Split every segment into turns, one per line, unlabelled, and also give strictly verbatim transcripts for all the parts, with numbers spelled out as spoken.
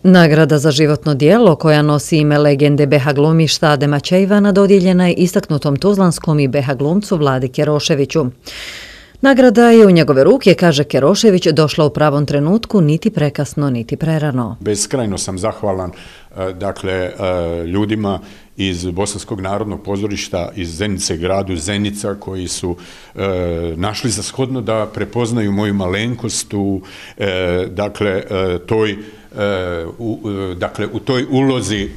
Nagrada za životno djelo, koja nosi ime legende be ha glumišta Adema Čejvana, dodijeljena je istaknutom tuzlanskom i be ha glumcu Vladi Keroševiću. Nagrada je u njegove ruke, kaže Kerošević, došla u pravom trenutku, niti prekasno, niti prerano.
Beskrajno sam zahvalan dakle, ljudima iz Bosanskog narodnog pozorišta, iz Zenice, gradu Zenica, koji su e, našli za shodno da prepoznaju moju malenkost u, e, dakle, e, toj, e, u, dakle, u toj ulozi.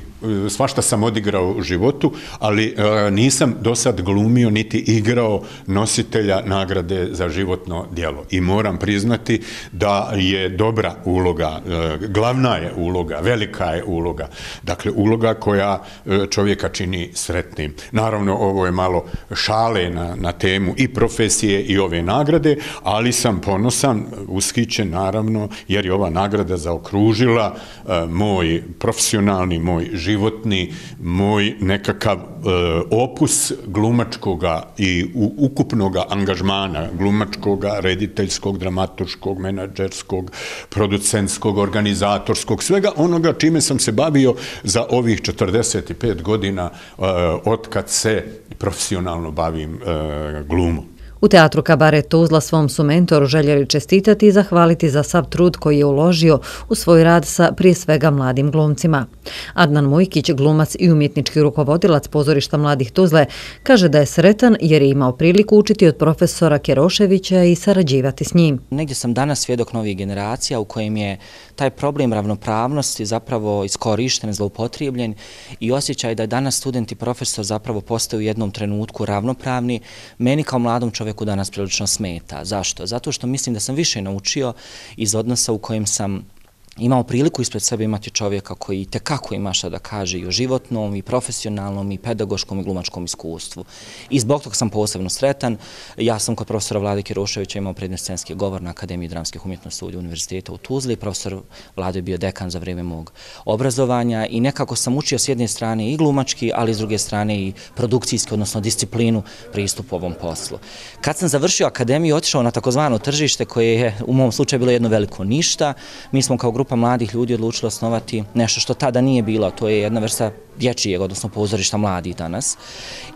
Svašta sam odigrao u životu, ali e, nisam do sad glumio niti igrao nositelja nagrade za životno djelo. I moram priznati da je dobra uloga, e, glavna je uloga, velika je uloga. Dakle, uloga koja e, čovjeka čini sretnim. Naravno, ovo je malo šale na, na temu i profesije i ove nagrade, ali sam ponosan, ushićen naravno, jer je ova nagrada zaokružila e, moj profesionalni, moj život, životni, moj nekakav e, opus glumačkoga i u, ukupnoga angažmana, glumačkoga, rediteljskog, dramaturškog, menadžerskog, producentskog, organizatorskog, svega onoga čime sam se bavio za ovih četrdeset pet godina e, otkad se profesionalno bavim e, glumom.
U Teatru Kabaret Tuzla svom su mentoru željeli čestitati i zahvaliti za sav trud koji je uložio u svoj rad sa prije svega mladim glumcima. Adnan Mujkić, glumac i umjetnički rukovodilac pozorišta mladih Tuzle, kaže da je sretan jer je imao priliku učiti od profesora Keroševića i sarađivati s njim.
Negdje sam danas svjedok novih generacija u kojem je taj problem ravnopravnosti zapravo iskorišten, zloupotrijebljen i osjećaj da je danas student i profesor zapravo postaju u jednom trenutku ravnopravni. Meni kao mladom čovjeku danas prilično smeta. Zašto? Zato što mislim da sam više naučio iz odnosa u kojem sam imao priliku ispred sebe imati čovjeka koji itekako ima šta da kaže i o životnom, i profesionalnom, i pedagoškom, i glumačkom iskustvu. I zbog toga sam posebno sretan. Ja sam kod profesora Vlade Keroševića imao predmet scenski govor na Akademiji dramskih umjetnosti Univerziteta u Tuzli. Profesor Vlade je bio dekan za vrijeme mog obrazovanja i nekako sam učio s jedne strane i glumački, ali s druge strane i produkcijski, odnosno disciplinu pristupu ovom poslu. Kad sam završio akademiju, otišao na takozvano tržište koje je u mom slučaju bilo jedno veliko ništa. Mi smo kao grupa mladih ljudi odlučili osnovati nešto što tada nije bilo, to je jedna vrsta dječjeg, odnosno pozorišta mladih danas.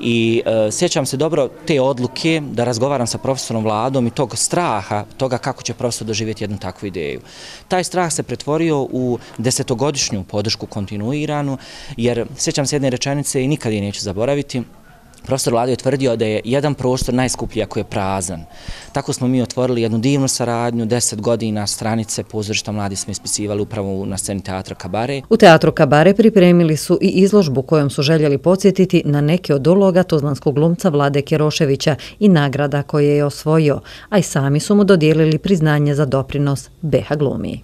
I e, sjećam se dobro te odluke da razgovaram sa profesorom Vladom i tog straha, toga kako će profesor doživjeti jednu takvu ideju. Taj strah se pretvorio u desetogodišnju podršku kontinuiranu, jer sjećam se jedne rečenice i nikad je neću zaboraviti. Profesor Vlado je tvrdio da je jedan prostor najskuplji ako je prazan. Tako smo mi otvorili jednu divnu saradnju, deset godina stranice pozorišta mladih smo ispisivali upravo na sceni Teatra Kabaret.
U Teatru Kabaret pripremili su i izložbu kojom su željeli podsjetiti na neke od uloga tuzlanskog glumca Vlade Keroševića i nagrada koje je osvojio, a i sami su mu dodijelili priznanje za doprinos be ha glumi.